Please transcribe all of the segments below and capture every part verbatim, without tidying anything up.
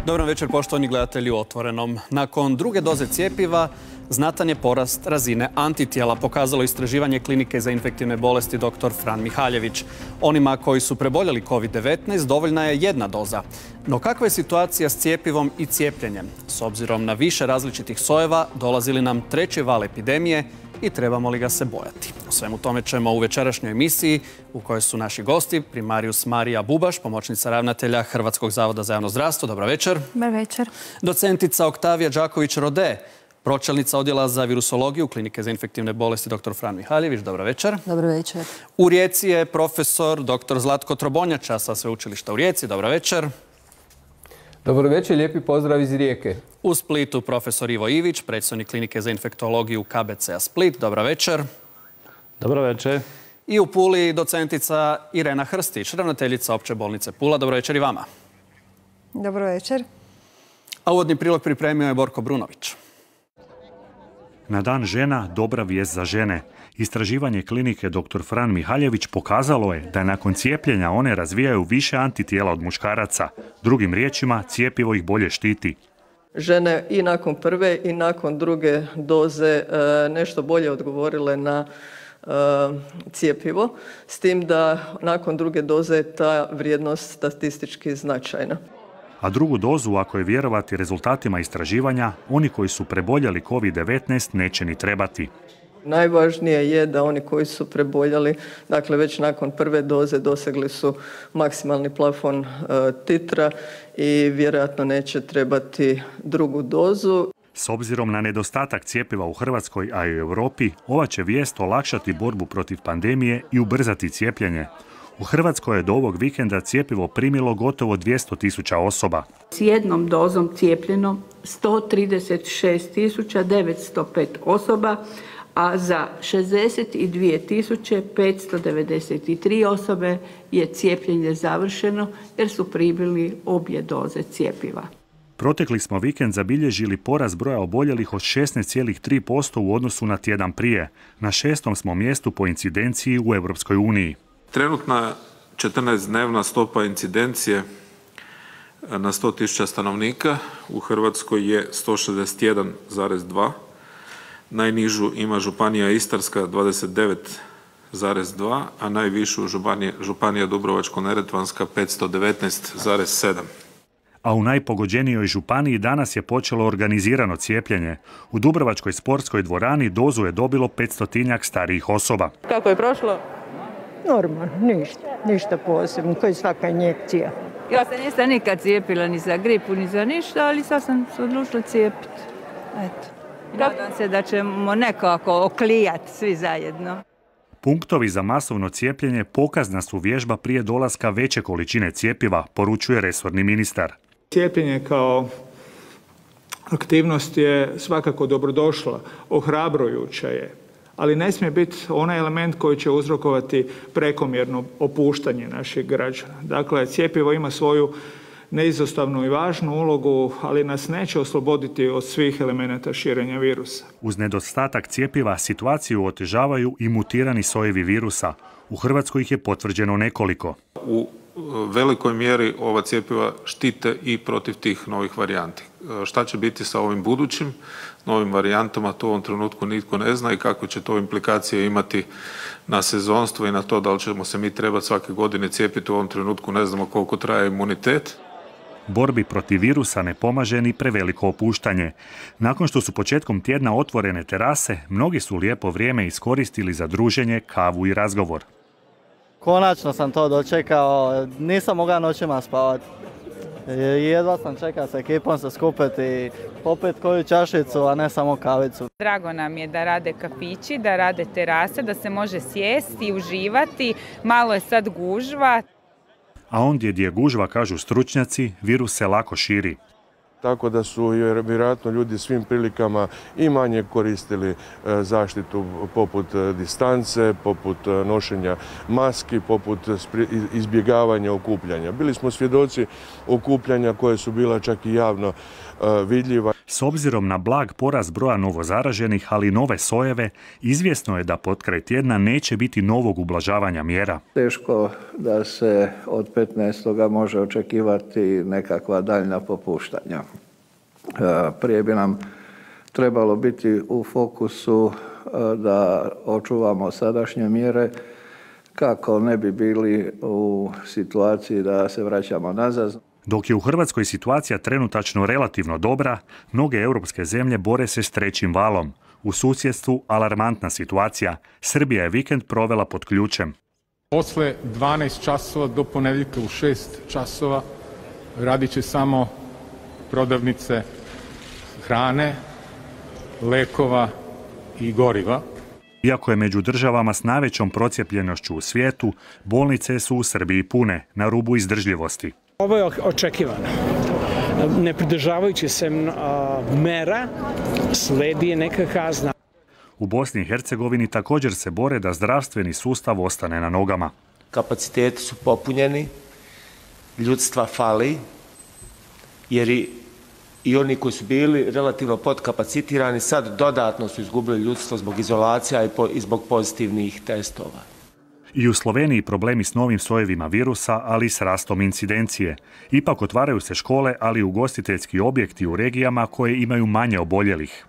Dobar večer, poštovani gledatelji u Otvorenom. Nakon druge doze cjepiva, znatan je porast razine antitijela, pokazalo istraživanje Klinike za infektivne bolesti doktor Fran Mihaljević. Onima koji su preboljeli kovid devetnaest dovoljna je jedna doza. No kakva je situacija s cjepivom i cijepljenjem? S obzirom na više različitih sojeva, dolazi li nam treći val epidemije i trebamo li ga se bojati? O svemu tome ćemo u večerašnjoj emisiji u kojoj su naši gosti primarius Marija Bubaš, pomoćnica ravnatelja Hrvatskog zavoda za javno zdravstvo. Dobro večer. Dobar večer. Docentica Oktavija Đaković-Rode, pročelnica odjela za virusologiju Klinike za infektivne bolesti doktor Fran Mihaljević. Dobro večer. Dobro večer. U Rijeci je profesor doktor Zlatko Trobonjača sa Sveučilišta u Rijeci. Dobro večer. Dobro večer, lijepi pozdrav iz Rijeke. U Splitu profesor Ivo Ivić, predstojnik Klinike za infektologiju K B C-a Split. Dobro večer. Dobro večer. I u Puli docentica Irena Hrstić, ravnateljica Opće bolnice Pula. Dobro večer i vama. Dobro večer. A uvodni prilog pripremio je Borko Brunović. Na dan žena dobra vijest za žene. Istraživanje klinike doktor Fran Mihaljević pokazalo je da nakon cijepljenja one razvijaju više antitijela od muškaraca. Drugim riječima, cjepivo ih bolje štiti. Žene i nakon prve i nakon druge doze nešto bolje odgovorile na cjepivo, s tim da nakon druge doze je ta vrijednost statistički značajna. A drugu dozu, ako je vjerovati rezultatima istraživanja, oni koji su preboljeli kovid devetnaest neće ni trebati. Najvažnije je da oni koji su preboljeli, dakle već nakon prve doze dosegli su maksimalni plafon e, titra i vjerojatno neće trebati drugu dozu. S obzirom na nedostatak cjepiva u Hrvatskoj, a i u Europi, ova će vijest olakšati borbu protiv pandemije i ubrzati cijepljenje. U Hrvatskoj je do ovog vikenda cjepivo primilo gotovo dvjesto tisuća osoba. S jednom dozom cijepljeno sto trideset šest tisuća devetsto pet osoba, a za šezdeset dvije tisuće petsto devedeset tri osobe je cijepljenje završeno jer su primili obje doze cjepiva. Protekli smo vikend zabilježili porast broja oboljelih od šesnaest zarez tri posto u odnosu na tjedan prije. Na šestom smo mjestu po incidenciji u Europskoj uniji. Trenutna četrnaestdnevna stopa incidencije na sto tisuća stanovnika u Hrvatskoj je sto šezdeset jedan zarez dva. Najnižu ima županija Istarska dvadeset devet zarez dva, a najvišu županija, županija Dubrovačko-neretvanska petsto devetnaest zarez sedam. A u najpogođenijoj županiji danas je počelo organizirano cijepljenje. U Dubrovačkoj sportskoj dvorani dozu je dobilo petstotinjak starijih osoba. Kako je prošlo? Normalno, ništa, ništa posebno, kao i svaka injekcija. Ja se nisam nikad cijepila ni za gripu, ni za ništa, ali sad sam se odlučila cijepiti. Eto. Nadam se da ćemo nekako oklijati svi zajedno. Punktovi za masovno cijepljenje pokazna su vježba prije dolaska veće količine cjepiva, poručuje resorni ministar. Cijepljenje kao aktivnost je svakako dobrodošla, ohrabrujuća je, ali ne smije biti onaj element koji će uzrokovati prekomjerno opuštanje naših građana. Dakle, cjepivo ima svoju neizostavnu i važnu ulogu, ali nas neće osloboditi od svih elemenata širenja virusa. Uz nedostatak cjepiva situaciju otežavaju i mutirani sojevi virusa. U Hrvatskoj ih je potvrđeno nekoliko. U velikoj mjeri ova cjepiva štite i protiv tih novih varijanti. Šta će biti sa ovim budućim novim varijantama, to u ovom trenutku nitko ne zna i kakve će to implikacije imati na sezonstvo i na to da li ćemo se mi trebati svake godine cijepiti. U ovom trenutku ne znamo koliko traje imunitet. Borbi protiv virusa ne pomaže ni preveliko opuštanje. Nakon što su početkom tjedna otvorene terase, mnogi su lijepo vrijeme iskoristili za druženje, kavu i razgovor. Konačno sam to dočekao, nisam mogao noćima spavati. Jedva sam čekao sa ekipom se skupiti i popet koju čašicu, a ne samo kavicu. Drago nam je da rade kafići, da rade terase, da se može sjesti i uživati. Malo je sad gužva. A ondje gdje je gužva, kažu stručnjaci, virus se lako širi. Tako da su vjerojatno ljudi svim prilikama i manje koristili zaštitu poput distance, poput nošenja maski, poput izbjegavanja okupljanja. Bili smo svjedoci okupljanja koje su bila čak i javno vidljiva. S obzirom na blag porast broja novozaraženih, ali i nove sojeve, izvjesno je da potkraj tjedna neće biti novog ublažavanja mjera. Teško da se od petnaestoga može očekivati nekakva daljnja popuštanja. Prije bi nam trebalo biti u fokusu da očuvamo sadašnje mjere kako ne bi bili u situaciji da se vraćamo nazad. Dok je u Hrvatskoj situacija trenutačno relativno dobra, mnoge europske zemlje bore se s trećim valom. U susjedstvu alarmantna situacija. Srbija je vikend provela pod ključem. Posle dvanaest časova do ponedjeljka u šest časova radit će samo prodavnice hrane, lekova i goriva. Iako je među državama s najvećom procijepljenošću u svijetu, bolnice su u Srbiji pune, na rubu izdržljivosti. Ovo je očekivano. Ne pridržavajući se mera, sledi neka kazna. U Bosni i Hercegovini također se bore da zdravstveni sustav ostane na nogama. Kapaciteti su popunjeni, ljudstva fali, jer i, i oni koji su bili relativno podkapacitirani sad dodatno su izgubili ljudstvo zbog izolacija i, po, i zbog pozitivnih testova. I u Sloveniji problemi s novim sojevima virusa, ali i s rastom incidencije. Ipak otvaraju se škole, ali i ugostiteljski objekti u regijama koje imaju manje oboljelih.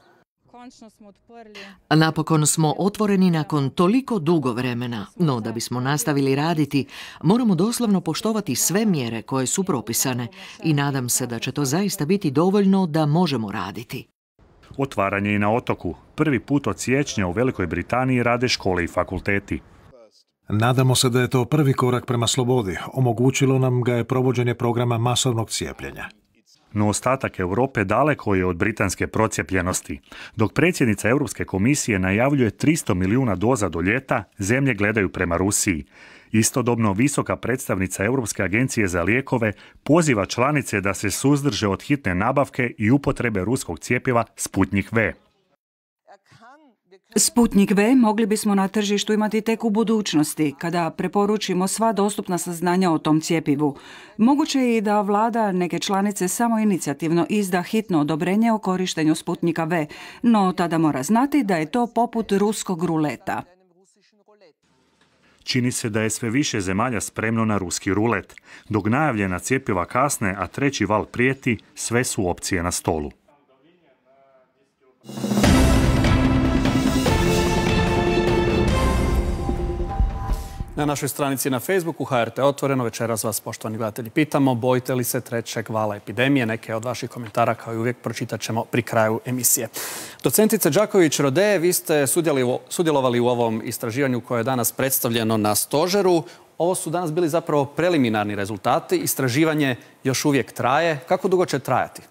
Napokon smo otvoreni nakon toliko dugo vremena, no da bismo nastavili raditi, moramo doslovno poštovati sve mjere koje su propisane i nadam se da će to zaista biti dovoljno da možemo raditi. Otvaranje i na otoku. Prvi put od siječnja u Velikoj Britaniji rade škole i fakulteti. Nadamo se da je to prvi korak prema slobodi. Omogućilo nam ga je provođenje programa masovnog cijepljenja. No ostatak Europe daleko je od britanske procijepljenosti. Dok predsjednica Europske komisije najavljuje tristo milijuna doza do ljeta, zemlje gledaju prema Rusiji. Istodobno, visoka predstavnica Europske agencije za lijekove poziva članice da se suzdrže od hitne nabavke i upotrebe ruskog cjepiva Sputnik V. Sputnik V mogli bismo na tržištu imati tek u budućnosti, kada preporučimo sva dostupna saznanja o tom cjepivu. Moguće je i da vlada neke članice samoinicijativno izda hitno odobrenje o korištenju Sputnika V, no tada mora znati da je to poput ruskog ruleta. Čini se da je sve više zemalja spremno na ruski rulet. Dok najavljena cjepiva kasne, a treći val prijeti, sve su opcije na stolu. Na našoj stranici na Facebooku H R T Otvoreno večeras vas, poštovani gledatelji, pitamo bojite li se trećeg vala epidemije. Neke od vaših komentara, kao i uvijek, pročitat ćemo pri kraju emisije. Docentice Đaković-Rode, vi ste sudjelovali u ovom istraživanju koje je danas predstavljeno na stožeru. Ovo su danas bili zapravo preliminarni rezultati. Istraživanje još uvijek traje. Kako dugo će trajati?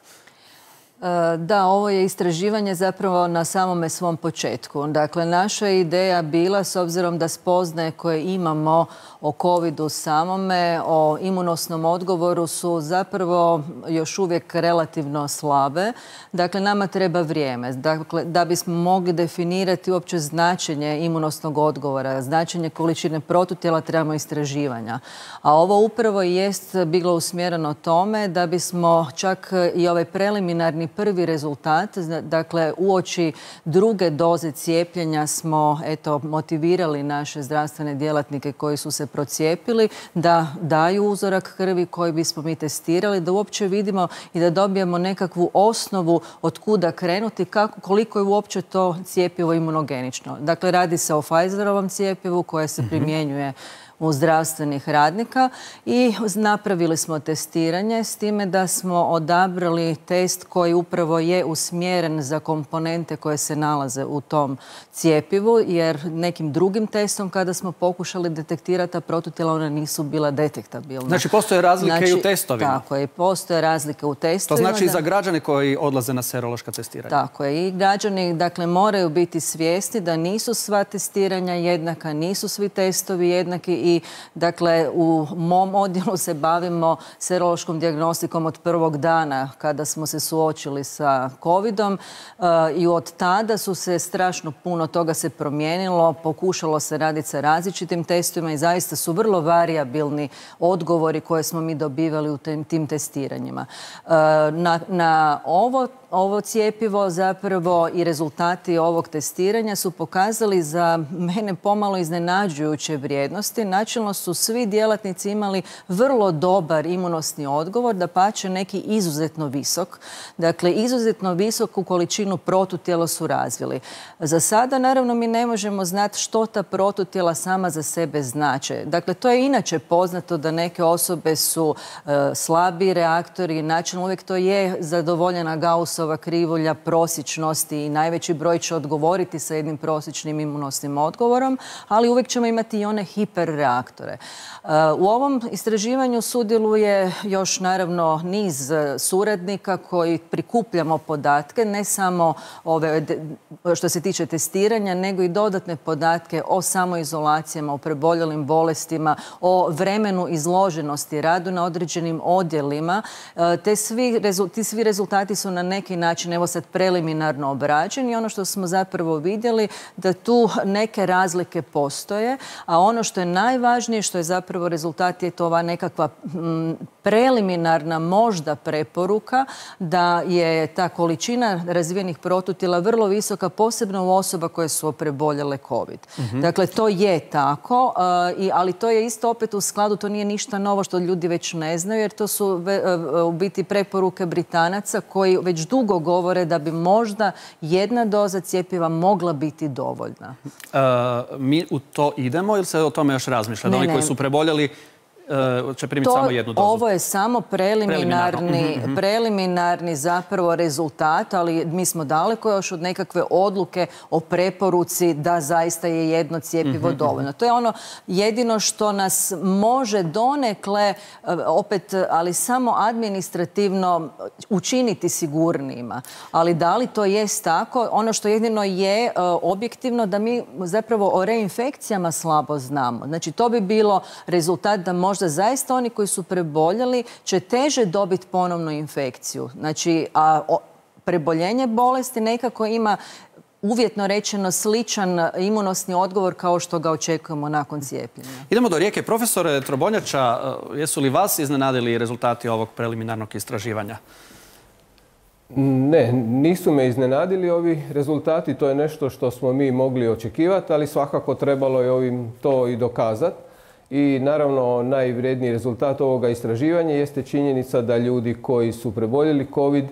Da, ovo je istraživanje zapravo na samome svom početku. Dakle, naša ideja bila, s obzirom da spoznaje koje imamo o covidu samome, o imunosnom odgovoru su zapravo još uvijek relativno slabe. Dakle, nama treba vrijeme. Dakle, da bismo mogli definirati uopće značenje imunosnog odgovora, značenje količine protutijela, trebamo istraživanja. A ovo upravo jest bilo usmjereno tome da bismo čak i ovaj preliminarni prvi rezultat, dakle uoči druge doze cijepljenja smo eto motivirali naše zdravstvene djelatnike koji su se procijepili da daju uzorak krvi koji bismo mi testirali, da uopće vidimo i da dobijemo nekakvu osnovu od kuda krenuti, kako, koliko je uopće to cjepivo imunogenično. Dakle, radi se o Pfizerovom cjepivu koje se primjenjuje u zdravstvenih radnika i napravili smo testiranje s time da smo odabrali test koji upravo je usmjeren za komponente koje se nalaze u tom cjepivu, jer nekim drugim testom kada smo pokušali detektirati ta protutijela, ona nisu bila detektabilna. Znači, postoje razlike znači, i u testovima? Tako je, postoje razlike u testovima. To znači i za građane koji odlaze na serološka testiranja? Tako je, i građani dakle, moraju biti svjesni da nisu sva testiranja jednaka, nisu svi testovi jednaki. I dakle, u mom odjelu se bavimo serološkom dijagnostikom od prvog dana kada smo se suočili sa covidom i od tada su se strašno puno toga se promijenilo, pokušalo se raditi sa različitim testovima i zaista su vrlo varijabilni odgovori koje smo mi dobivali u tim testiranjima. Na, na ovo ovo cijepivo zapravo i rezultati ovog testiranja su pokazali za mene pomalo iznenađujuće vrijednosti. Načelno su svi djelatnici imali vrlo dobar imunosni odgovor, dapače neki izuzetno visok. Dakle, izuzetno visoku količinu protutijela su razvili. Za sada, naravno, mi ne možemo znati što ta protutijela sama za sebe znače. Dakle, to je inače poznato da neke osobe su e, slabi reaktori, načelno uvijek to je zadovoljena Gaussova krivulja prosječnosti i najveći broj će odgovoriti sa jednim prosječnim imunosnim odgovorom, ali uvijek ćemo imati i one hiperreaktore. U ovom istraživanju sudjeluje još naravno niz suradnika koji prikupljamo podatke, ne samo ove, što se tiče testiranja, nego i dodatne podatke o samoizolacijama, o preboljelim bolestima, o vremenu izloženosti, radu na određenim odjelima. Te svi, ti svi rezultati su na neki način, evo sad, preliminarno obrađeni i ono što smo zapravo vidjeli da tu neke razlike postoje, a ono što je najvažnije, što je zapravo rezultat, je to ova nekakva m, preliminarna možda preporuka da je ta količina razvijenih protutijela vrlo visoka, posebno u osoba koje su preboljele COVID. Mm-hmm. Dakle, to je tako, uh, i, ali to je isto opet u skladu, to nije ništa novo što ljudi već ne znaju, jer to su ve, uh, u biti preporuke Britanaca koji već dugo govore da bi možda jedna doza cjepiva mogla biti dovoljna. Uh, mi u to idemo ili se o tome još razmišlja? Da oni koji su preboljeli će primiti samo jednu dozu? Ovo je samo preliminarni, preliminarni zapravo rezultat, ali mi smo daleko još od nekakve odluke o preporuci da zaista je jedno cjepivo dovoljno. To je ono jedino što nas može donekle, opet, ali samo administrativno učiniti sigurnijima. Ali da li to jest tako? Ono što jedino je objektivno da mi zapravo o reinfekcijama slabo znamo. Znači, to bi bilo rezultat da može možda zaista oni koji su preboljeli će teže dobiti ponovnu infekciju. Znači, a o, preboljenje bolesti nekako ima uvjetno rečeno sličan imunosni odgovor kao što ga očekujemo nakon cijepljenja. Idemo do Rijeke. Profesore Trobonjača, jesu li vas iznenadili rezultati ovog preliminarnog istraživanja? Ne, nisu me iznenadili ovi rezultati. To je nešto što smo mi mogli očekivati, ali svakako trebalo je ovim to i dokazati. I naravno najvrijedniji rezultat ovoga istraživanja jeste činjenica da ljudi koji su preboljeli COVID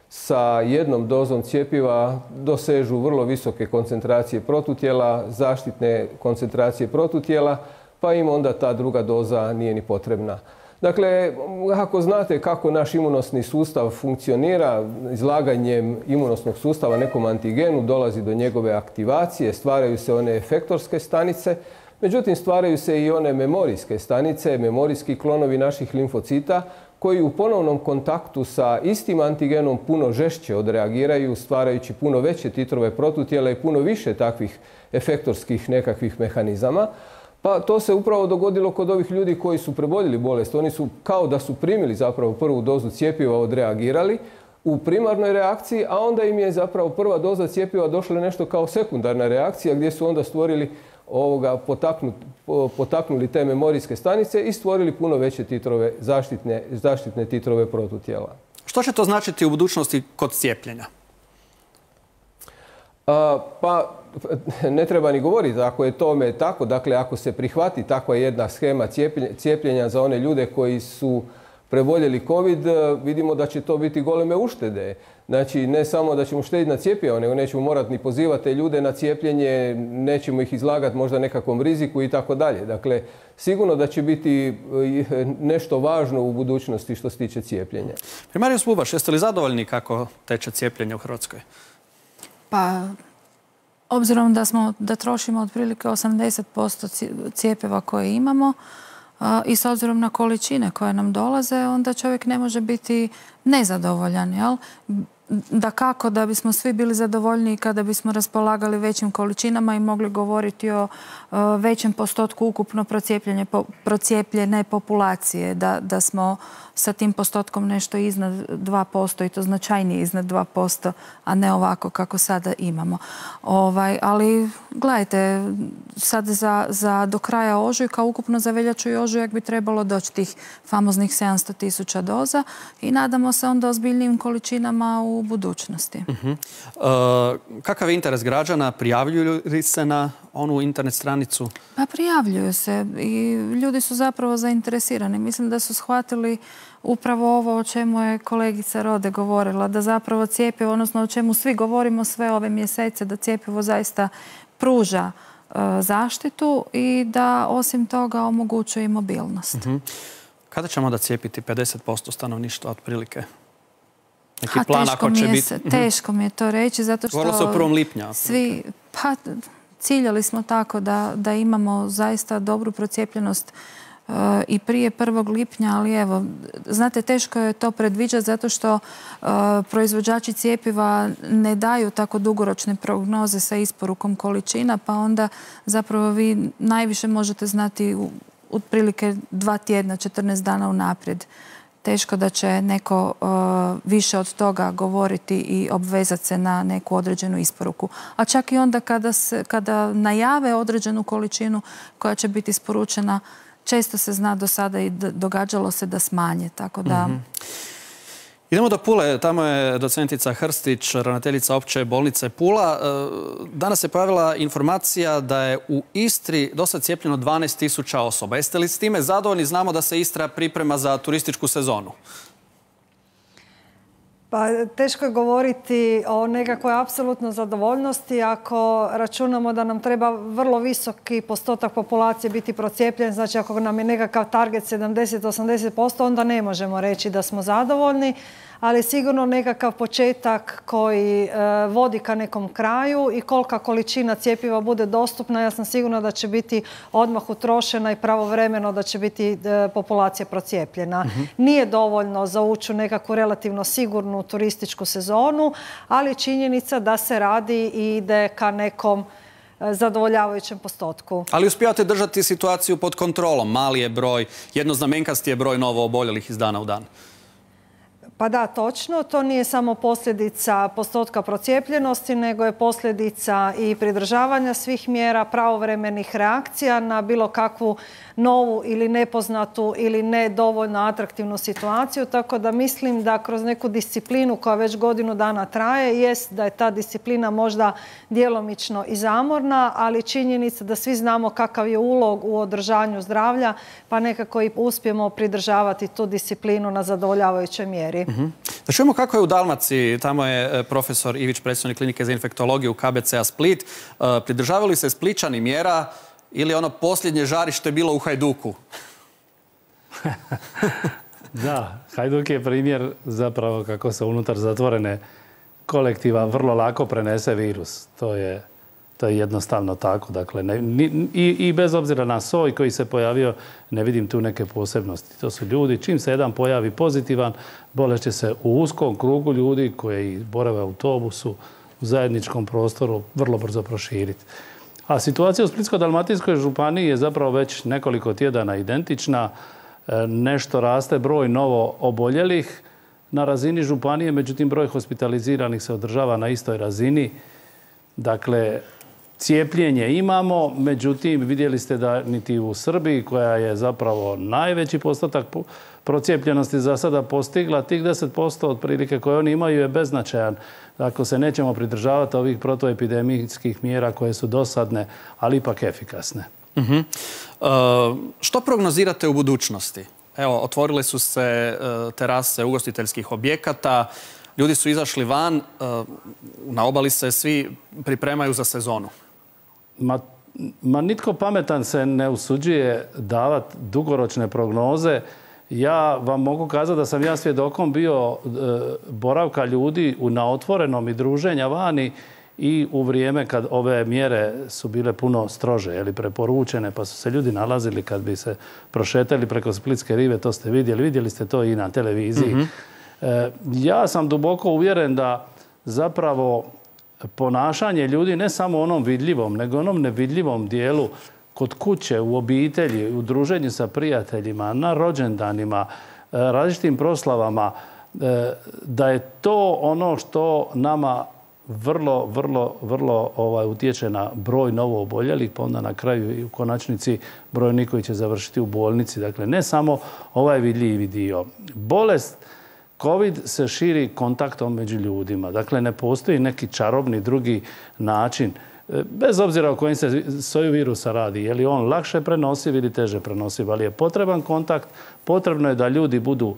sa jednom dozom cjepiva dosežu vrlo visoke koncentracije protutijela, zaštitne koncentracije protutijela, pa im onda ta druga doza nije ni potrebna. Dakle, ako znate kako naš imunosni sustav funkcionira, izlaganjem imunosnog sustava nekom antigenu dolazi do njegove aktivacije, stvaraju se one efektorske stanice. Međutim, stvaraju se i one memorijske stanice, memorijski klonovi naših limfocita koji u ponovnom kontaktu sa istim antigenom puno žešće odreagiraju, stvarajući puno veće titrove protutijela i puno više takvih efektorskih nekakvih mehanizama. Pa to se upravo dogodilo kod ovih ljudi koji su preboljeli bolest. Oni su kao da su primili zapravo prvu dozu cjepiva odreagirali u primarnoj reakciji, a onda im je zapravo prva doza cjepiva došla nešto kao sekundarna reakcija gdje su onda stvorili ovoga, potaknuli te memorijske stanice i stvorili puno veće titrove, zaštitne, zaštitne titrove protutijela. Što će to značiti u budućnosti kod cijepljenja? A, pa, ne treba ni govoriti ako je tome tako. Dakle, ako se prihvati takva jedna schema cijepljenja za one ljude koji su preboljeli COVID, vidimo da će to biti goleme uštede. Znači, ne samo da ćemo štediti na cjepivo, nego nećemo morati ni pozivati te ljude na cijepljenje, nećemo ih izlagati možda nekakvom riziku i tako dalje. Dakle, sigurno da će biti nešto važno u budućnosti što se tiče cijepljenja. Primarius Bubaš, jeste li zadovoljni kako teče cijepljenje u Hrvatskoj? Pa, obzirom da, smo, da trošimo otprilike osamdeset posto cijepiva koje imamo, i s obzirom na količine koje nam dolaze, onda čovjek ne može biti nezadovoljan, jel? Da kako da bismo svi bili zadovoljniji kada bismo raspolagali većim količinama i mogli govoriti o većem postotku ukupno procijepljene populacije, da, da smo sa tim postotkom nešto iznad dva posto i to značajnije iznad dva posto, a ne ovako kako sada imamo. Ovaj, ali gledajte, sad za, za do kraja ožujka, ukupno za veljaču i ožujak bi trebalo doći tih famoznih sedamsto tisuća doza i nadamo se onda ozbiljnijim količinama u u budućnosti. Uh-huh. Uh, kakav je interes građana? Prijavljuju li se na onu internet stranicu? Pa prijavljuju se i ljudi su zapravo zainteresirani. Mislim da su shvatili upravo ovo o čemu je kolegica Rode govorila, da zapravo cjepivo, odnosno o čemu svi govorimo sve ove mjesece, da cjepivo zaista pruža uh, zaštitu i da osim toga omogućuje i mobilnost. Uh-huh. Kada ćemo da cijepiti pedeset posto stanovništva otprilike? Neki A, plan ako će biti... Se, teško mi je to reći, zato što... Govorilo se o prvom lipnja. Svi, pa, ciljali smo tako da, da imamo zaista dobru procijepljenost uh, i prije prvog lipnja, ali evo, znate, teško je to predviđati zato što uh, proizvođači cijepiva ne daju tako dugoročne prognoze sa isporukom količina, pa onda zapravo vi najviše možete znati u otprilike dva tjedna, četrnaest dana unaprijed. Teško da će neko uh, više od toga govoriti i obvezati se na neku određenu isporuku. A čak i onda kada, se, kada najave određenu količinu koja će biti isporučena, često se zna do sada i događalo se da smanje. Tako da... Mm-hmm. Idemo do Pule, tamo je docentica Hrstić, ravnateljica opće bolnice Pula. Danas je pojavila informacija da je u Istri dosad cijepljeno dvanaest tisuća osoba. Jeste li s time zadovoljni? Znamo da se Istra priprema za turističku sezonu. Pa teško je govoriti o nekakvoj apsolutnoj zadovoljnosti ako računamo da nam treba vrlo visoki postotak populacije biti procijepljen. Znači ako nam je nekakav target sedamdeset do osamdeset posto, onda ne možemo reći da smo zadovoljni, ali sigurno nekakav početak koji e, vodi ka nekom kraju i kolika količina cjepiva bude dostupna, ja sam sigurna da će biti odmah utrošena i pravovremeno da će biti e, populacija procijepljena. Mm-hmm. Nije dovoljno za ući u nekakvu relativno sigurnu turističku sezonu, ali činjenica da se radi i ide ka nekom zadovoljavajućem postotku. Ali uspijate držati situaciju pod kontrolom. Mali je broj, jednoznamenkasti je broj novo oboljelih iz dana u dan. Pa da, točno. To nije samo posljedica postotka procijepljenosti, nego je posljedica i pridržavanja svih mjera, pravovremenih reakcija na bilo kakvu novu ili nepoznatu ili ne dovoljno atraktivnu situaciju. Tako da mislim da kroz neku disciplinu koja već godinu dana traje, jest da je ta disciplina možda djelomično i zamorna, ali činjenica da svi znamo kakav je ulog u održanju zdravlja, pa nekako i uspijemo pridržavati tu disciplinu na zadovoljavajućoj mjeri. Mm-hmm. Da čujemo kako je u Dalmaciji. Tamo je profesor Ivić, predsjednik klinike za infektologiju K B C-a Split. Pridržavali se Splićani mjera ili ono posljednje žarište bilo u Hajduku? Da, Hajduk je primjer zapravo kako se unutar zatvorene kolektiva vrlo lako prenese virus. To je, to je jednostavno tako. Dakle, ne, ni, i, i bez obzira na soj koji se pojavio, ne vidim tu neke posebnosti. To su ljudi, čim se jedan pojavi pozitivan, bolest će se u uskom krugu ljudi koji borave u autobusu, u zajedničkom prostoru, vrlo brzo proširiti. A situacija u Splitsko-dalmatinskoj županiji je zapravo već nekoliko tjedana identična. Nešto raste broj novo oboljelih na razini županije, međutim broj hospitaliziranih se održava na istoj razini. Dakle, cijepljenje imamo, međutim vidjeli ste da niti u Srbiji, koja je zapravo najveći postotak procijepljenosti za sada postigla, tih deset posto otprilike koje oni imaju je beznačajan. Ako se nećemo pridržavati ovih protoepidemijskih mjera koje su dosadne, ali ipak efikasne. Uh-huh. Uh, što prognozirate u budućnosti? Evo, otvorile su se uh, terase ugostiteljskih objekata, ljudi su izašli van, uh, na obali se svi pripremaju za sezonu. Ma, ma nitko pametan se ne usuđuje davati dugoročne prognoze. Ja vam mogu kazati da sam ja svjedokom bio e, boravka ljudi u, na otvorenom i druženja vani i u vrijeme kad ove mjere su bile puno strože, jeli, preporučene, pa su se ljudi nalazili kad bi se prošetali preko Splitske rive, to ste vidjeli, vidjeli ste to i na televiziji. Mm-hmm. e, ja sam duboko uvjeren da zapravo ponašanje ljudi ne samo onom vidljivom, nego onom nevidljivom dijelu kod kuće, u obitelji, u druženju sa prijateljima, na rođendanima, različitim proslavama, da je to ono što nama vrlo, vrlo, vrlo ovaj, utječe na broj novo oboljelih, pa onda na kraju i u konačnici broj onih koji će završiti u bolnici. Dakle, ne samo ovaj vidljivi dio. Bolest Covid se širi kontaktom među ljudima. Dakle, ne postoji neki čarobni drugi način. Bez obzira o kojim se soju virusa radi, je li on lakše prenosiv ili teže prenosiv, ali je potreban kontakt, potrebno je da ljudi budu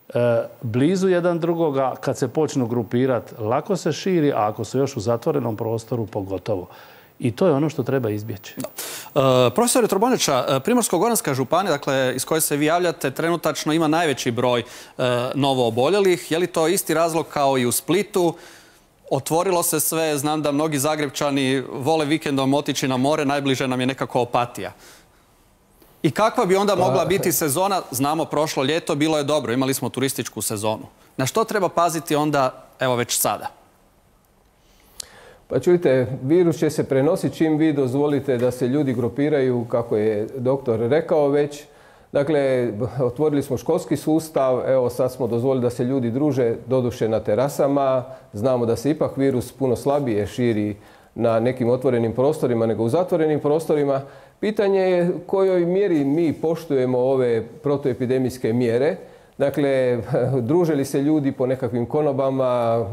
e, blizu jedan drugoga, kad se počnu grupirati, lako se širi, a ako su još u zatvorenom prostoru, pogotovo. I to je ono što treba izbjeći. Da. E, profesore Trobonjača, Primorsko-goranska županija, dakle, iz koje se vi javljate, trenutačno ima najveći broj e, novo oboljelih. Je li to isti razlog kao i u Splitu? Otvorilo se sve, znam da mnogi Zagrepčani vole vikendom otići na more, najbliže nam je nekako Opatija. I kakva bi onda mogla biti sezona? Znamo, prošlo ljeto bilo je dobro, imali smo turističku sezonu. Na što treba paziti onda, evo već sada? Pa čujte, virus će se prenositi čim vi dozvolite da se ljudi grupiraju, kako je doktor rekao već. Dakle, otvorili smo školski sustav, evo sad smo dozvolili da se ljudi druže, doduše na terasama. Znamo da se ipak virus puno slabije širi na nekim otvorenim prostorima nego u zatvorenim prostorima. Pitanje je u kojoj mjeri mi poštujemo ove protuepidemijske mjere. Dakle, druže li se ljudi po nekakvim konobama,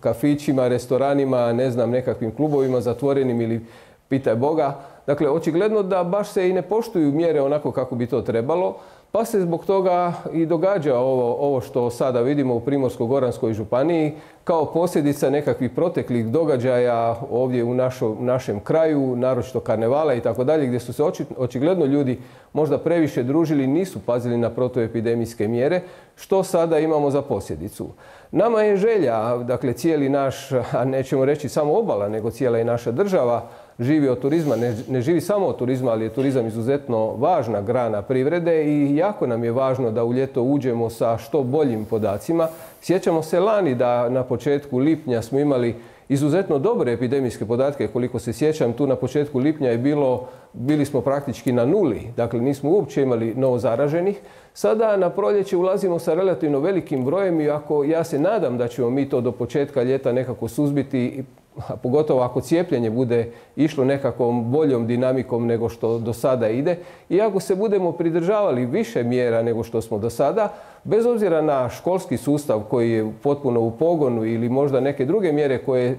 kafićima, restoranima, ne znam, nekakvim klubovima zatvorenim ili pitaj Boga. Dakle, očigledno da baš se i ne poštuju mjere onako kako bi to trebalo, pa se zbog toga i događa ovo, ovo što sada vidimo u Primorsko-goranskoj županiji kao posljedica nekakvih proteklih događaja ovdje u našo, našem kraju, naročito karnevala i tako dalje, gdje su se oči, očigledno ljudi možda previše družili, nisu pazili na protuepidemijske mjere, što sada imamo za posljedicu. Nama je želja, dakle cijeli naš, a nećemo reći samo obala, nego cijela i naša država, živi od turizma, ne, ne živi samo od turizma, ali je turizam izuzetno važna grana privrede i jako nam je važno da u ljeto uđemo sa što boljim podacima. Sjećamo se lani da na početku lipnja smo imali izuzetno dobre epidemijske podatke, koliko se sjećam, tu na početku lipnja je bilo, bili smo praktički na nuli, dakle nismo uopće imali novo zaraženih. Sada na proljeće ulazimo sa relativno velikim brojem i ako ja se nadam da ćemo mi to do početka ljeta nekako suzbiti, a pogotovo ako cijepljenje bude išlo nekakvom boljom dinamikom nego što do sada ide. I ako se budemo pridržavali više mjera nego što smo do sada, bez obzira na školski sustav koji je potpuno u pogonu ili možda neke druge mjere koje,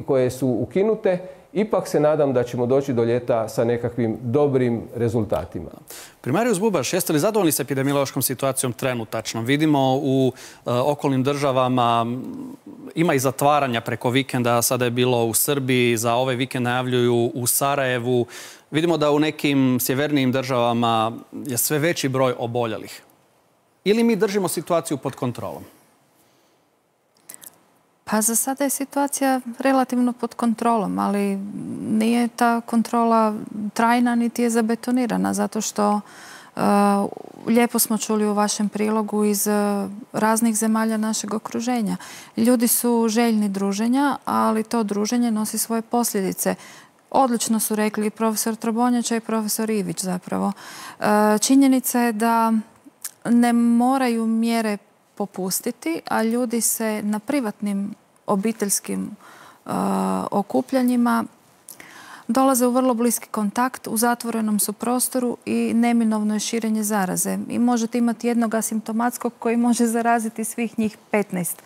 koje su ukinute, ipak se nadam da ćemo doći do ljeta sa nekakvim dobrim rezultatima. Primarijus Bubaš, jeste li zadovoljni s epidemiološkom situacijom trenutačno? Vidimo u e, okolnim državama ima i zatvaranja preko vikenda, sada je bilo u Srbiji, za ovaj vikend najavljuju u Sarajevu. Vidimo da u nekim sjevernijim državama je sve veći broj oboljelih. Ili mi držimo situaciju pod kontrolom? Pa za sada je situacija relativno pod kontrolom, ali nije ta kontrola trajna niti je zabetonirana, zato što uh, lijepo smo čuli u vašem prilogu iz uh, raznih zemalja našeg okruženja. Ljudi su željni druženja, ali to druženje nosi svoje posljedice. Odlično su rekli i profesor Trobonjača i profesor Ivić zapravo. Uh, činjenica je da ne moraju mjere popustiti, a ljudi se na privatnim obiteljskim uh, okupljanjima dolaze u vrlo bliski kontakt, u zatvorenom su prostoru i neminovno je širenje zaraze. I možete imati jednog asimptomatskog koji može zaraziti svih njih petnaest.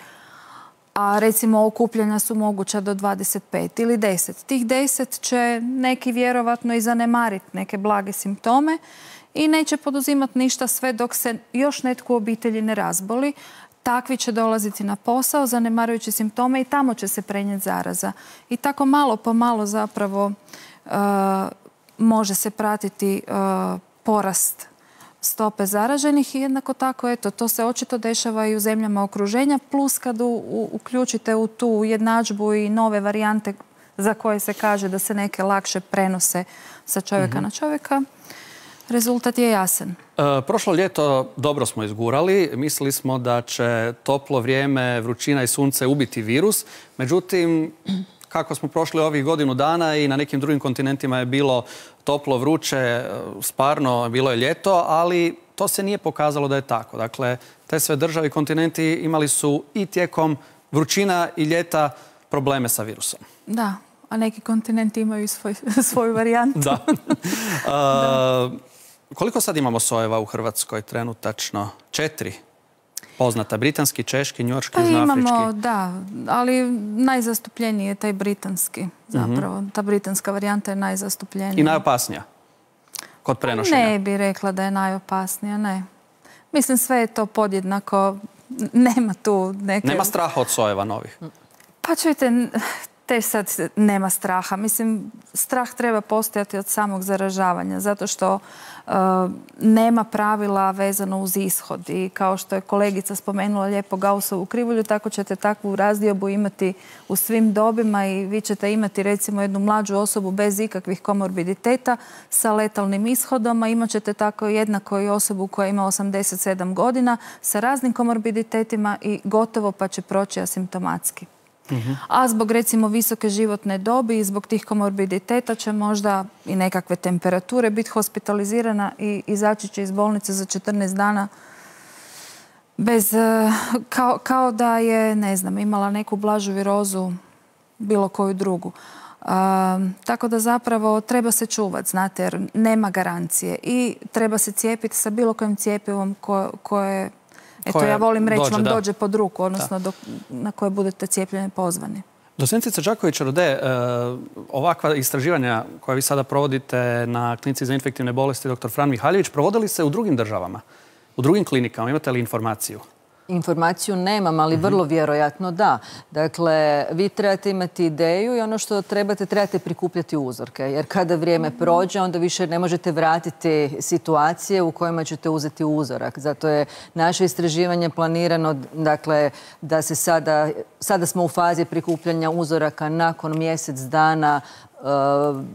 A recimo okupljanja su moguća do dvadeset pet ili deset. Tih deset će neki vjerovatno i zanemariti neke blage simptome i neće poduzimati ništa sve dok se još netko u obitelji ne razboli. Takvi će dolaziti na posao, zanemarujući simptome i tamo će se prenijeti zaraza. I tako malo po malo zapravo uh, može se pratiti uh, porast stope zaraženih i jednako tako, eto, to se očito dešava i u zemljama okruženja, plus kad u, u, uključite u tu jednadžbu i nove varijante za koje se kaže da se neke lakše prenose sa čovjeka mm-hmm. na čovjeka, rezultat je jasan. E, prošlo ljeto dobro smo izgurali. Mislili smo da će toplo vrijeme, vrućina i sunce ubiti virus. Međutim, kako smo prošli ovih godinu dana i na nekim drugim kontinentima je bilo toplo, vruće, sparno, bilo je ljeto, ali to se nije pokazalo da je tako. Dakle, te sve države i kontinenti imali su i tijekom vrućina i ljeta probleme sa virusom. Da, a neki kontinenti imaju svoj, svoju varijantu. Da. da. Uh, koliko sad imamo sojeva u Hrvatskoj trenutačno? Četiri? poznata? Britanski, češki, njujorški, Pa južnoafrički? imamo, da, ali najzastupljeniji je taj britanski zapravo. Ta britanska varijanta je najzastupljenija. I najopasnija kod prenošenja? Ne bi rekla da je najopasnija, ne. Mislim, sve je to podjednako, nema tu neke... Nema straha od sojeva novih? Pa čujte, te sad nema straha. Mislim, strah treba postojati od samog zaražavanja, zato što uh, nema pravila vezano uz ishod. I kao što je kolegica spomenula lijepo Gaussovu krivulju, tako ćete takvu razdiobu imati u svim dobima i vi ćete imati recimo jednu mlađu osobu bez ikakvih komorbiditeta sa letalnim ishodom, a imat ćete tako jednako i osobu koja ima osamdeset sedam godina sa raznim komorbiditetima i gotovo pa će proći asimptomatski. A zbog recimo visoke životne dobi i zbog tih komorbiditeta će možda i nekakve temperature biti hospitalizirana i izaći će iz bolnice za četrnaest dana bez, kao, kao da je, ne znam, imala neku blažu virozu, bilo koju drugu. Um, tako da zapravo treba se čuvati, znate, jer nema garancije i treba se cijepiti sa bilo kojim cijepivom koje, koje Eto, ja volim reći dođe, vam da. dođe pod ruku, odnosno do, na koje budete cijepljeni pozvani. Docentica Đaković-Rode, ovakva istraživanja koja vi sada provodite na klinici za infektivne bolesti doktor Fran Mihaljević, provodili se u drugim državama, u drugim klinikama? Imate li informaciju? Informaciju nemam, ali vrlo vjerojatno da. Dakle, vi trebate imati ideju i ono što trebate, trebate prikupljati uzorke. Jer kada vrijeme prođe, onda više ne možete vratiti situacije u kojima ćete uzeti uzorak. Zato je naše istraživanje planirano, dakle, da se sada, sada smo u fazi prikupljanja uzoraka nakon mjesec dana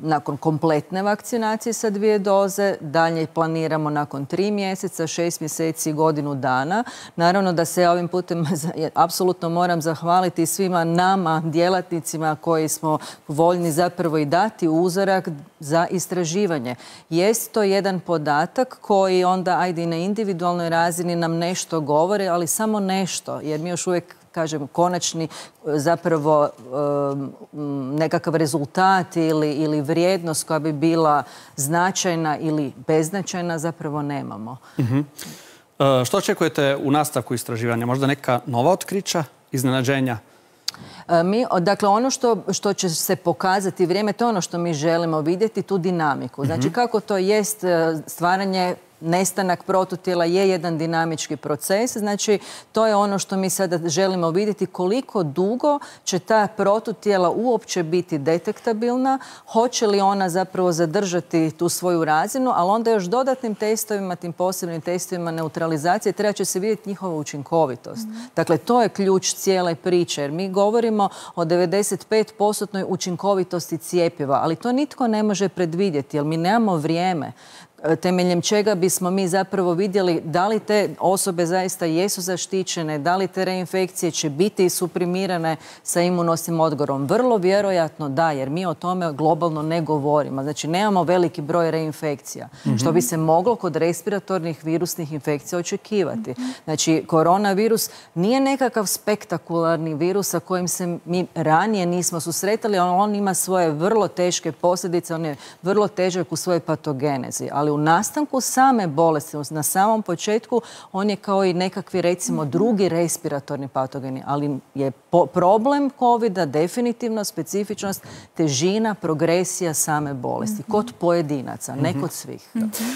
nakon kompletne vakcinacije sa dvije doze, dalje planiramo nakon tri mjeseca, šest mjeseci i godinu dana. Naravno da se ovim putem apsolutno moram zahvaliti svima nama, djelatnicima koji smo voljni zapravo i dati uzorak za istraživanje. Jest to jedan podatak koji onda, ajde i na individualnoj razini nam nešto govore, ali samo nešto, jer mi još uvijek kažem, konačni zapravo nekakav rezultat ili, ili vrijednost koja bi bila značajna ili beznačajna zapravo nemamo. Uh-huh. E, što očekujete u nastavku istraživanja? Možda neka nova otkrića, iznenađenja? Mi, dakle, ono što, što će se pokazati vrijeme, to je ono što mi želimo vidjeti, tu dinamiku. Znači, kako to jest stvaranje, nestanak protutijela je jedan dinamički proces. Znači, to je ono što mi sada želimo vidjeti, koliko dugo će ta protutijela uopće biti detektabilna, hoće li ona zapravo zadržati tu svoju razinu, ali onda još dodatnim testovima, tim posebnim testovima neutralizacije, treba će se vidjeti njihova učinkovitost. Mm. Dakle, to je ključ cijele priče, jer mi govorimo o devedeset pet posto učinkovitosti cijepiva, ali to nitko ne može predvidjeti, jer mi nemamo vrijeme temeljem čega bismo mi zapravo vidjeli da li te osobe zaista jesu zaštićene, da li te reinfekcije će biti suprimirane sa imunosnim odgovorom. Vrlo vjerojatno da, jer mi o tome globalno ne govorimo. Znači, nemamo veliki broj reinfekcija, mm-hmm. što bi se moglo kod respiratornih virusnih infekcija očekivati. Mm-hmm. Znači, koronavirus nije nekakav spektakularni virus sa kojim se mi ranije nismo susretali, ali on ima svoje vrlo teške posljedice, on je vrlo težak u svojoj patogenezi, ali u nastanku same bolesti, na samom početku, on je kao i nekakvi, recimo, drugi respiratorni patogeni, ali je problem kovida definitivno specifičnost, težina, progresija same bolesti, kod pojedinaca, ne kod svih.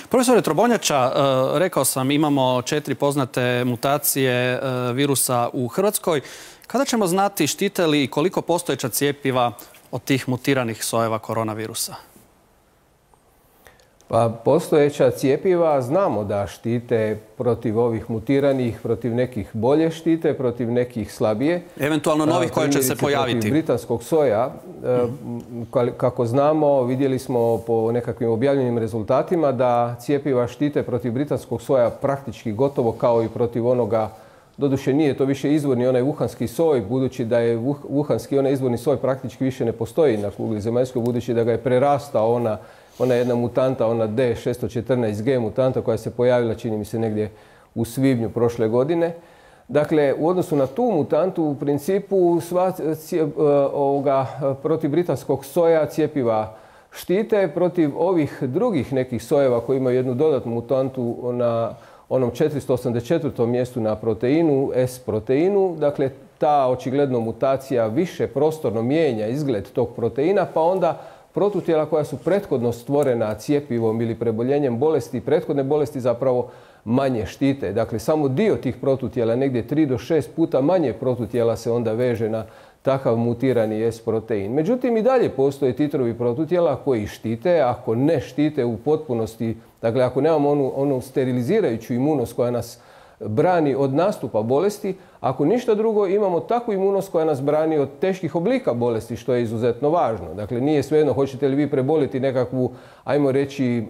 Profesore Trobonjača, rekao sam, imamo četiri poznate mutacije virusa u Hrvatskoj. Kada ćemo znati štite li i koliko postojeća cijepiva od tih mutiranih sojeva koronavirusa? Pa postojeća cijepiva znamo da štite protiv ovih mutiranih, protiv nekih bolje štite, protiv nekih slabije. Eventualno novih koje će se pojaviti. Protiv britanskog soja, kako znamo, vidjeli smo po nekakvim objavljenim rezultatima da cijepiva štite protiv britanskog soja praktički gotovo kao i protiv onoga. Doduše nije to više izvorni onaj wuhanski soj, budući da je wuhanski onaj izvorni soj praktički više ne postoji na kugli zemaljskoj, budući da ga je prerastao ona Ona jedna mutanta, ona D šesto četrnaest G mutanta koja se pojavila, čini mi se, negdje u svibnju prošle godine. Dakle, u odnosu na tu mutantu, u principu, sva, cijep, ovoga, protiv britanskog soja cijepiva štite, protiv ovih drugih nekih sojeva koji imaju jednu dodatnu mutantu na onom četiristo osamdeset četvrtom mjestu na proteinu, S proteinu. Dakle, ta očigledno mutacija više prostorno mijenja izgled tog proteina, pa onda protutijela koja su prethodno stvorena cjepivom ili preboljenjem bolesti, prethodne bolesti zapravo manje štite. Dakle, samo dio tih protutijela, negdje tri do šest puta manje protutijela se onda veže na takav mutirani S protein. Međutim, i dalje postoje titrovi protutijela koji štite, ako ne štite u potpunosti, dakle, ako nemamo onu, onu sterilizirajuću imunost koja nas brani od nastupa bolesti, ako ništa drugo imamo takvu imunost koja nas brani od teških oblika bolesti, što je izuzetno važno. Dakle, nije svejedno hoćete li vi preboliti nekakvu, ajmo reći,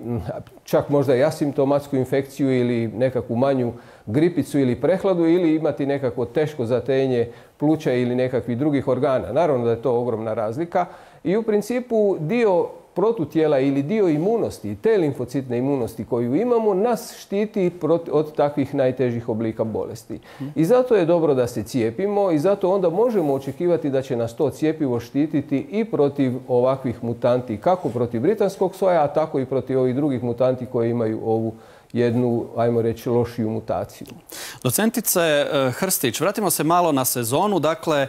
čak možda i asimptomatsku infekciju ili nekakvu manju gripicu ili prehladu ili imati nekakvo teško zatenje pluća ili nekakvih drugih organa. Naravno da je to ogromna razlika i u principu dio protutijela ili dio imunosti, te limfocitne imunosti koju imamo, nas štiti od takvih najtežih oblika bolesti. I zato je dobro da se cijepimo i zato onda možemo očekivati da će nas to cjepivo štititi i protiv ovakvih mutanti, kako protiv britanskog soja, a tako i protiv ovih drugih mutanti koji imaju ovu jednu, ajmo reći, lošiju mutaciju. Docentice Hrstić, vratimo se malo na sezonu. Dakle,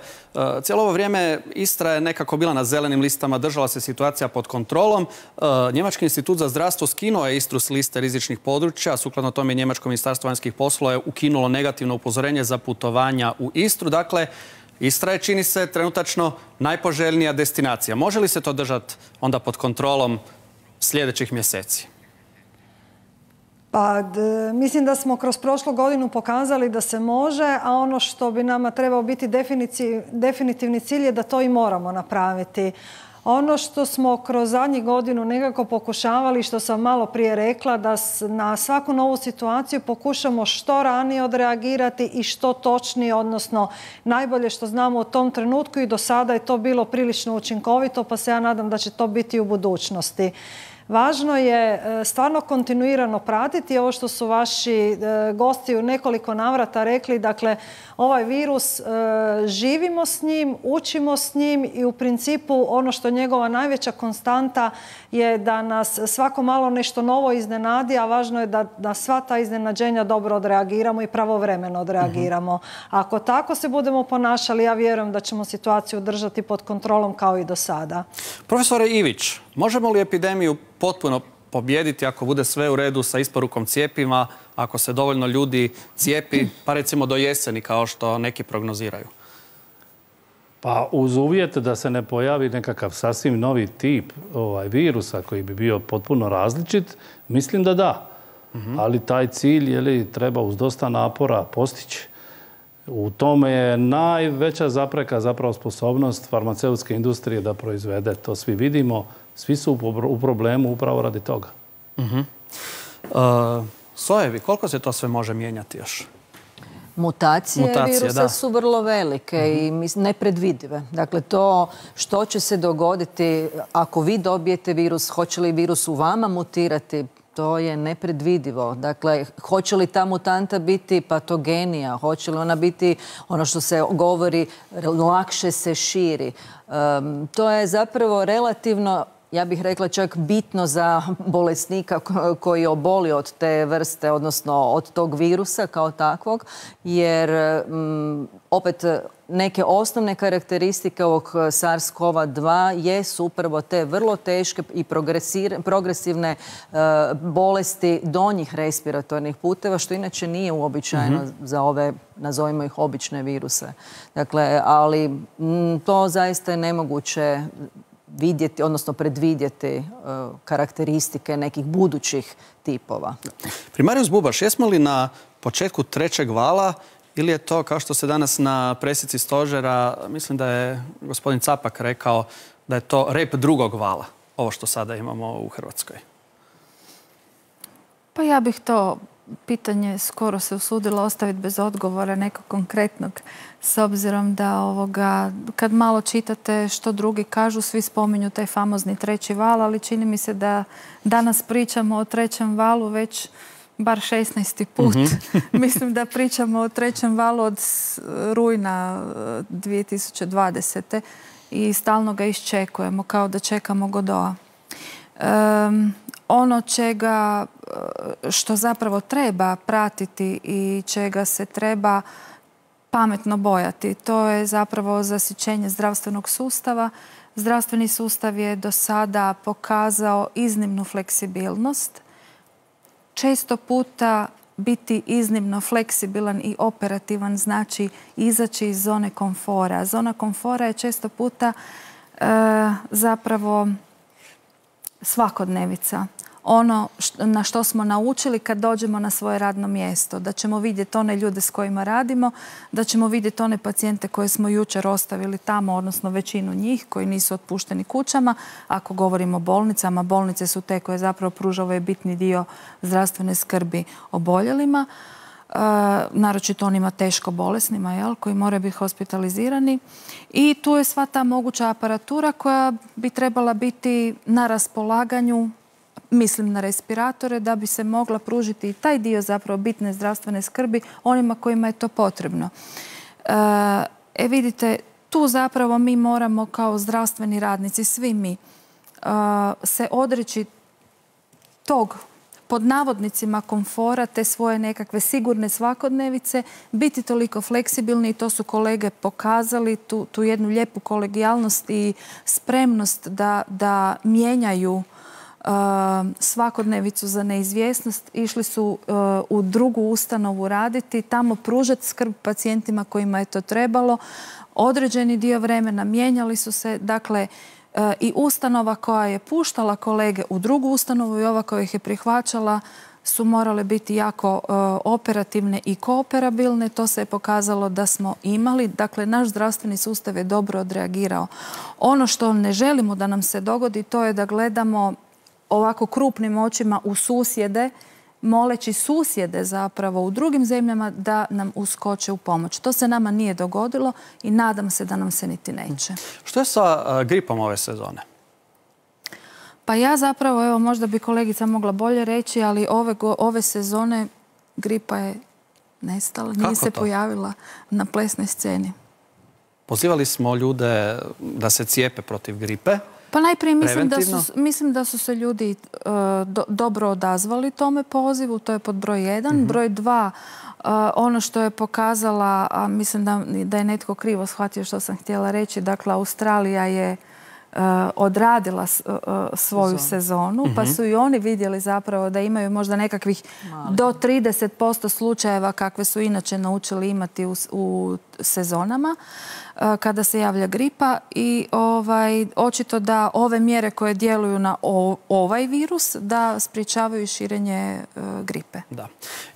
cijelo ovo vrijeme Istra je nekako bila na zelenim listama, držala se situacija pod kontrolom. Njemački institut za zdravstvo skinuo je Istru s liste rizičnih područja. Sukladno tome Njemačko ministarstvo vanjskih poslova je ukinulo negativno upozorenje za putovanja u Istru. Dakle, Istra je, čini se, trenutačno najpoželjnija destinacija. Može li se to držati onda pod kontrolom sljedećih mjeseci? Pa, d, mislim da smo kroz prošlu godinu pokazali da se može, a ono što bi nama trebao biti definitivni cilj je da to i moramo napraviti. Ono što smo kroz zadnjih godinu nekako pokušavali, što sam malo prije rekla, da na svaku novu situaciju pokušamo što ranije odreagirati i što točnije, odnosno najbolje što znamo u tom trenutku i do sada je to bilo prilično učinkovito, pa se ja nadam da će to biti i u budućnosti. Važno je stvarno kontinuirano pratiti ovo što su vaši gosti u nekoliko navrata rekli. Dakle, ovaj virus, živimo s njim, učimo s njim i u principu ono što je njegova najveća konstanta je da nas svako malo nešto novo iznenadi, a važno je da na sva ta iznenađenja dobro odreagiramo i pravovremeno odreagiramo. Uh-huh. Ako tako se budemo ponašali, ja vjerujem da ćemo situaciju držati pod kontrolom kao i do sada. Profesore Ivić, možemo li epidemiju potpuno pobijediti ako bude sve u redu sa isporukom cijepiva, ako se dovoljno ljudi cijepi, pa recimo do jeseni kao što neki prognoziraju? Pa uz uvjet da se ne pojavi nekakav sasvim novi tip ovaj, virusa koji bi bio potpuno različit, mislim da da. Uh-huh. Ali taj cilj je li, treba uz dosta napora postići. U tome je najveća zapreka zapravo sposobnost farmaceutske industrije da proizvede. To svi vidimo. Svi su u problemu upravo radi toga. Uh-huh. uh, sojevi, koliko se to sve može mijenjati još? Mutacije, Mutacije virusa da. su vrlo velike uh-huh. i nepredvidive. Dakle, to što će se dogoditi ako vi dobijete virus, hoće li virus u vama mutirati, to je nepredvidivo. Dakle, hoće li ta mutanta biti patogenija, hoće li ona biti, ono što se govori, lakše se širi. Um, to je zapravo relativno, ja bih rekla čak bitno za bolesnika koji oboli od te vrste, odnosno od tog virusa kao takvog, jer um, opet neke osnovne karakteristike ovog SARS-CoV dva jesu upravo te vrlo teške i progresivne uh, bolesti donjih respiratornih puteva, što inače nije uobičajeno mm-hmm. za ove, nazovimo ih, obične viruse. Dakle, ali m, to zaista je nemoguće vidjeti, odnosno predvidjeti uh, karakteristike nekih budućih tipova. Primarius Bubaš, jesmo li na početku trećeg vala ili je to, kao što se danas na presici stožera, mislim da je gospodin Capak rekao da je to rep drugog vala, ovo što sada imamo u Hrvatskoj? Pa ja bih to pitanje skoro se usudila ostaviti bez odgovora nekog konkretnog, s obzirom da ovoga, kad malo čitate što drugi kažu, svi spominju taj famozni treći val, ali čini mi se da danas pričamo o trećem valu već bar šesnaesti put. Mm-hmm. Mislim da pričamo o trećem valu od rujna dvije tisuće dvadesete. i stalno ga iščekujemo kao da čekamo Godoa. Um, ono čega, što zapravo treba pratiti i čega se treba pametno bojati, to je zapravo zasićenje zdravstvenog sustava. Zdravstveni sustav je do sada pokazao iznimnu fleksibilnost. Često puta biti iznimno fleksibilan i operativan znači izaći iz zone komfora. Zona komfora je često puta e, zapravo svakodnevica. Ono na što smo naučili kad dođemo na svoje radno mjesto. Da ćemo vidjeti one ljude s kojima radimo, da ćemo vidjeti one pacijente koje smo jučer ostavili tamo, odnosno većinu njih koji nisu otpušteni kućama. Ako govorimo o bolnicama, bolnice su te koje zapravo pružaju ovaj bitni dio zdravstvene skrbi oboljelima. E, naročito onima teško bolesnima, jel, koji moraju biti hospitalizirani. I tu je sva ta moguća aparatura koja bi trebala biti na raspolaganju, mislim na respiratore, da bi se mogla pružiti i taj dio zapravo bitne zdravstvene skrbi onima kojima je to potrebno. E vidite, tu zapravo mi moramo kao zdravstveni radnici, svi mi, se odreći tog pod navodnicima komfora, te svoje nekakve sigurne svakodnevice, biti toliko fleksibilni i to su kolege pokazali, tu, tu jednu lijepu kolegijalnost i spremnost da, da mijenjaju svakodnevicu za neizvjesnost. Išli su u drugu ustanovu raditi, tamo pružati skrb pacijentima kojima je to trebalo. Određeni dio vremena mijenjali su se, dakle, i ustanova koja je puštala kolege u drugu ustanovu i ova koja ih je prihvaćala su morale biti jako operativne i kooperabilne. To se je pokazalo da smo imali. Dakle, naš zdravstveni sustav je dobro odreagirao. Ono što ne želimo da nam se dogodi, to je da gledamo ovako krupnim očima u susjede, moleći susjede zapravo u drugim zemljama da nam uskoče u pomoć. To se nama nije dogodilo i nadam se da nam se niti neće. Što je sa gripom ove sezone? Pa ja zapravo, evo, možda bi kolegica mogla bolje reći, ali ove, ove sezone gripa je nestala, nije se pojavila na plesnoj sceni. Pozivali smo ljude da se cijepe protiv gripe. Pa najprije mislim da, su, mislim da su se ljudi uh, do, dobro odazvali tome pozivu, to je pod broj jedan. Mm-hmm. Broj dva, uh, ono što je pokazala, a mislim da, da je netko krivo shvatio što sam htjela reći, dakle Australija je uh, odradila s, uh, svoju Sezon. sezonu, mm-hmm. pa su i oni vidjeli zapravo da imaju možda nekakvih Mali. do trideset posto slučajeva kakve su inače naučili imati u, u sezonama kada se javlja gripa i ovaj, očito da ove mjere koje djeluju na o, ovaj virus da sprječavaju širenje uh, gripe. Da.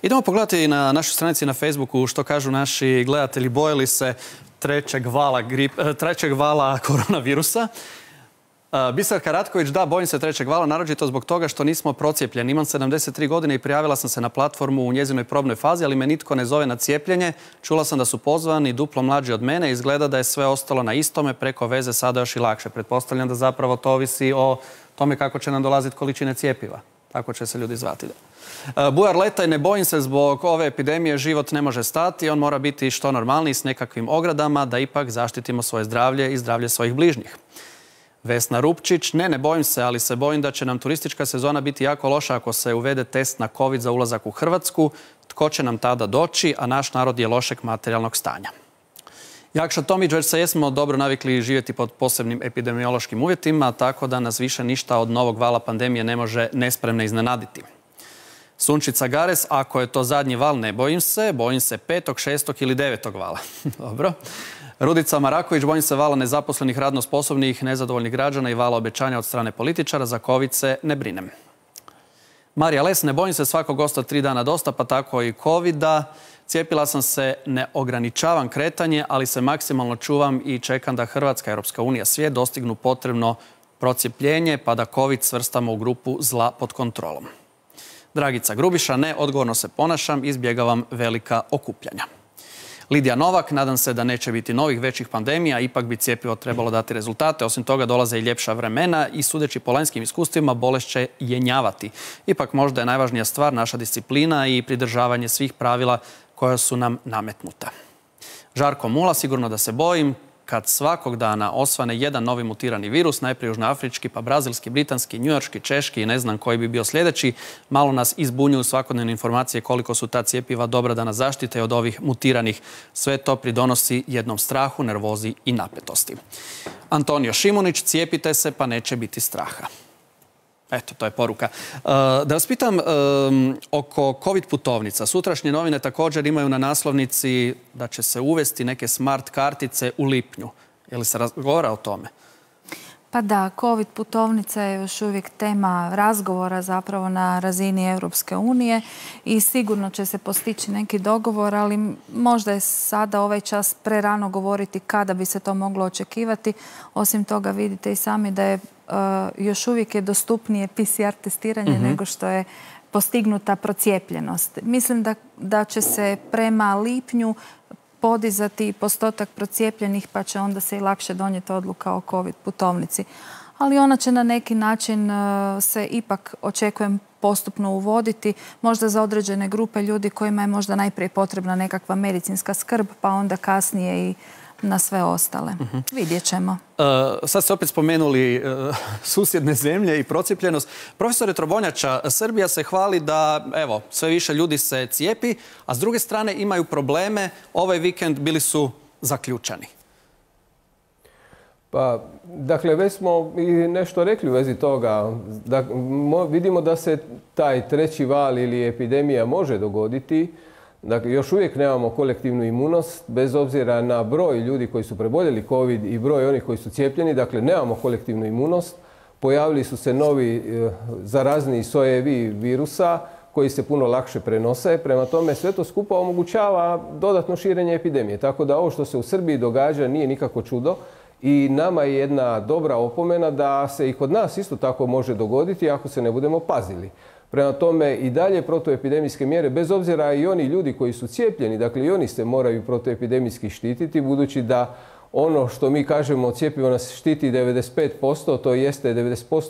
Idemo pogledati na našoj stranici na Facebooku što kažu naši gledatelji. Bojali se trećeg vala, grip, trećeg vala koronavirusa. Biserka Ratković, da, bojim se trećeg vala, naročito zbog toga što nismo procijepljeni. Imam sedamdeset tri godine i prijavila sam se na platformu u njezinoj probnoj fazi, ali me nitko ne zove na cijepljenje. Čula sam da su pozvani duplo mlađi od mene. Izgleda da je sve ostalo na istome, preko veze sada još i lakše. Pretpostavljam da zapravo to ovisi o tome kako će nam dolaziti količine cijepiva. Tako će se ljudi zvati. Bujar Letaj, ne bojim se zbog ove epidemije, život ne može stati. On mora biti što normalniji s nekakvim ogradama da ipak zaštitimo svoje zdravlje i zdravlje svojih bližnjih. Vesna Rupčić, ne, ne bojim se, ali se bojim da će nam turistička sezona biti jako loša ako se uvede test na COVID za ulazak u Hrvatsku. Tko će nam tada doći, a naš narod je lošeg materijalnog stanja. Jakša Tomić, već se jesmo dobro navikli živjeti pod posebnim epidemiološkim uvjetima, tako da nas više ništa od novog vala pandemije ne može nespremne iznenaditi. Sunčica Gares, ako je to zadnji val, ne bojim se, bojim se petog, šestog ili devetog vala. Dobro. Rudica Maraković, bojim se vala nezaposlenih, radno sposobnih, nezadovoljnih građana i vala obećanja od strane političara. Za COVID se ne brinem. Marija Les, ne bojim se svakog gosta tri dana dosta, pa tako i covida. Cijepila sam se, ne ograničavam kretanje, ali se maksimalno čuvam i čekam da Hrvatska, Europska unija, svijet dostignu potrebno procijepljenje, pa da COVID svrstamo u grupu zla pod kontrolom. Dragica Grubiša, ne, odgovorno se ponašam, izbjegavam velika okupljanja. Lidija Novak, nadam se da neće biti novih većih pandemija, ipak bi cjepivo trebalo dati rezultate. Osim toga dolaze i ljepša vremena i sudeći po lanjskim iskustvima bolest će jenjavati. Ipak možda je najvažnija stvar naša disciplina i pridržavanje svih pravila koja su nam nametnuta. Žarko Mula, sigurno da se bojim. kad svakog dana osvane jedan novi mutirani virus, najprije južnoafrički, pa brazilski, britanski, njujorški, češki i ne znam koji bi bio sljedeći, malo nas izbunjuju svakodnevne informacije koliko su ta cijepiva dobra da nas zaštite od ovih mutiranih. Sve to pridonosi jednom strahu, nervozi i napetosti. Antonio Šimunić, cijepite se pa neće biti straha. Eto, to je poruka. Da vas pitam oko COVID putovnica. Sutrašnje novine također imaju na naslovnici da će se uvesti neke smart kartice u lipnju. Je li se razgovara o tome? Pa da, COVID putovnica je još uvijek tema razgovora zapravo na razini Europske unije i sigurno će se postići neki dogovor, ali možda je sada ovaj čas prerano govoriti kada bi se to moglo očekivati. Osim toga vidite i sami da je uh, još uvijek je dostupnije P C R testiranje mm-hmm. nego što je postignuta procijepljenost. Mislim da, da će se prema lipnju podizati postotak procijepljenih, pa će onda se i lakše donijeti odluka o COVID putovnici. Ali ona će na neki način se ipak, očekujem, postupno uvoditi, možda za određene grupe ljudi kojima je možda najprije potrebna nekakva medicinska skrb, pa onda kasnije i na sve ostale. Uh-huh. Vidjet ćemo. Uh, sad ste opet spomenuli uh, susjedne zemlje i procijepljenost. Profesore Trobonjača, Srbija se hvali da evo, sve više ljudi se cijepi, a s druge strane imaju probleme. Ovaj vikend bili su zaključani. Pa, dakle, već smo i nešto rekli u vezi toga. Da, mo, vidimo da se taj treći val ili epidemija može dogoditi. Dakle, još uvijek nemamo kolektivnu imunost, bez obzira na broj ljudi koji su preboljeli COVID i broj onih koji su cijepljeni. Dakle, nemamo kolektivnu imunost. Pojavili su se novi e, zarazni sojevi virusa koji se puno lakše prenose. Prema tome, sve to skupa omogućava dodatno širenje epidemije. Tako da ovo što se u Srbiji događa nije nikako čudo. I nama je jedna dobra opomena da se i kod nas isto tako može dogoditi ako se ne budemo pazili. Prema tome i dalje protuepidemijske mjere, bez obzira i oni ljudi koji su cijepljeni, dakle i oni se moraju protuepidemijski štititi, budući da ono što mi kažemo cjepivo nas štiti devedeset pet posto, to jeste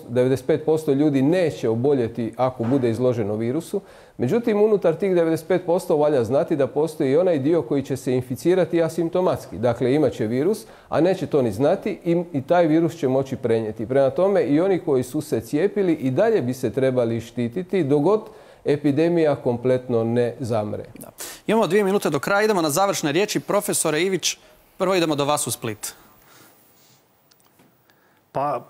devedeset pet posto ljudi neće oboljeti ako bude izloženo virusu. Međutim, unutar tih devedeset pet posto valja znati da postoji i onaj dio koji će se inficirati asimptomatski. Dakle, imat će virus, a neće to ni znati i, i taj virus će moći prenijeti. Prema tome, i oni koji su se cijepili i dalje bi se trebali štititi dok god epidemija kompletno ne zamre. Da. Imamo dvije minute do kraja, idemo na završne riječi. Profesore Ivić, prvo idemo do vas u Split. Pa,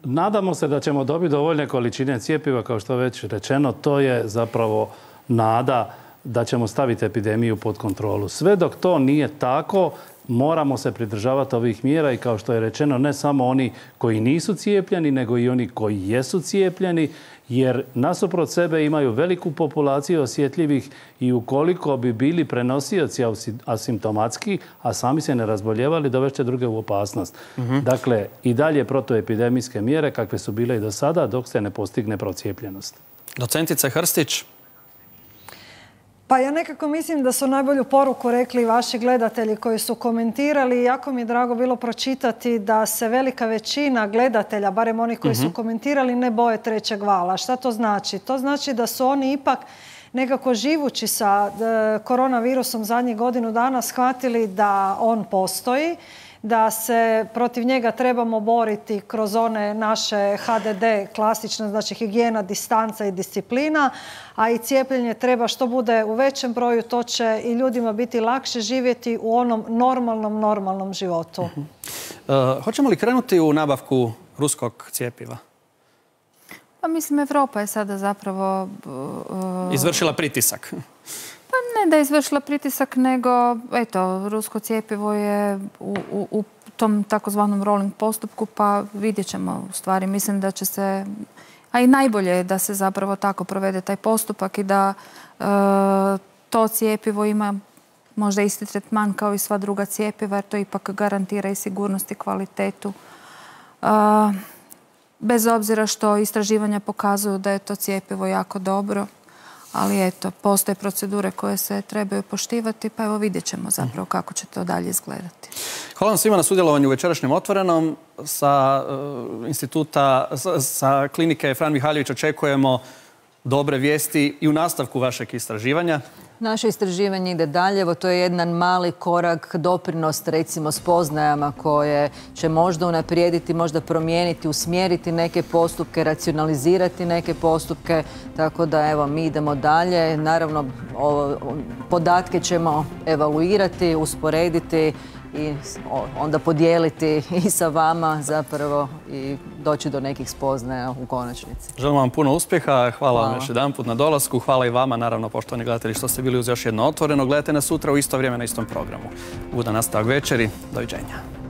nadamo se da ćemo dobiti dovoljne količine cijepiva, kao što je već rečeno. To je zapravo nada da ćemo staviti epidemiju pod kontrolu. Sve dok to nije tako, moramo se pridržavati ovih mjera i kao što je rečeno, ne samo oni koji nisu cijepljeni, nego i oni koji jesu cijepljeni, jer nasuprot sebe imaju veliku populaciju osjetljivih i ukoliko bi bili prenosioci asimptomatski, a sami se ne razboljevali, dovešće druge u opasnost. Uh-huh. Dakle, i dalje protuepidemijske mjere kakve su bile i do sada dok se ne postigne procijepljenost. Docentice Hrstić. Pa ja nekako mislim da su najbolju poruku rekli vaši gledatelji koji su komentirali. Jako mi je drago bilo pročitati da se velika većina gledatelja, barem oni koji su komentirali, ne boje trećeg vala. Šta to znači? To znači da su oni ipak nekako živući sa koronavirusom zadnjih godinu dana shvatili da on postoji, da se protiv njega trebamo boriti kroz one naše H D D klasične, znači higijena, distanca i disciplina, a i cijepljenje treba što bude u većem broju, to će i ljudima biti lakše živjeti u onom normalnom, normalnom životu. Uh-huh. Uh, hoćemo li krenuti u nabavku ruskog cijepiva? Pa mislim, Evropa je sada zapravo Uh... izvršila pritisak. Pa ne da je izvršila pritisak, nego eto, rusko cijepivo je u, u, u tom takozvanom rolling postupku, pa vidjet ćemo u stvari. Mislim da će se, a i najbolje je da se zapravo tako provede taj postupak i da e, to cijepivo ima možda isti tretman kao i sva druga cijepiva, jer to ipak garantira i sigurnost i kvalitetu. E, bez obzira što istraživanja pokazuju da je to cijepivo jako dobro, ali eto, postoje procedure koje se trebaju poštivati, pa evo vidjet ćemo zapravo kako će to dalje izgledati. Hvala vam svima na sudjelovanju u večerašnjem Otvorenom. Sa uh, instituta, sa, sa klinike Fran Mihaljević očekujemo dobre vijesti i u nastavku vašeg istraživanja. Naše istraživanje ide dalje, evo to je jedan mali korak, doprinos recimo spoznajama koje će možda unaprijediti, možda promijeniti, usmjeriti neke postupke, racionalizirati neke postupke, tako da evo mi idemo dalje. Naravno, o, podatke ćemo evaluirati, usporediti i onda podijeliti i sa vama zapravo i doći do nekih spoznaja u konačnici. Želim vam puno uspjeha, hvala, Hvala. vam još jedan put na dolasku, hvala i vama, naravno, poštovani gledatelji, što ste bili uz još jedno Otvoreno. Gledajte nas sutra u isto vrijeme na istom programu. Ugodan nastavak večeri, doviđenja.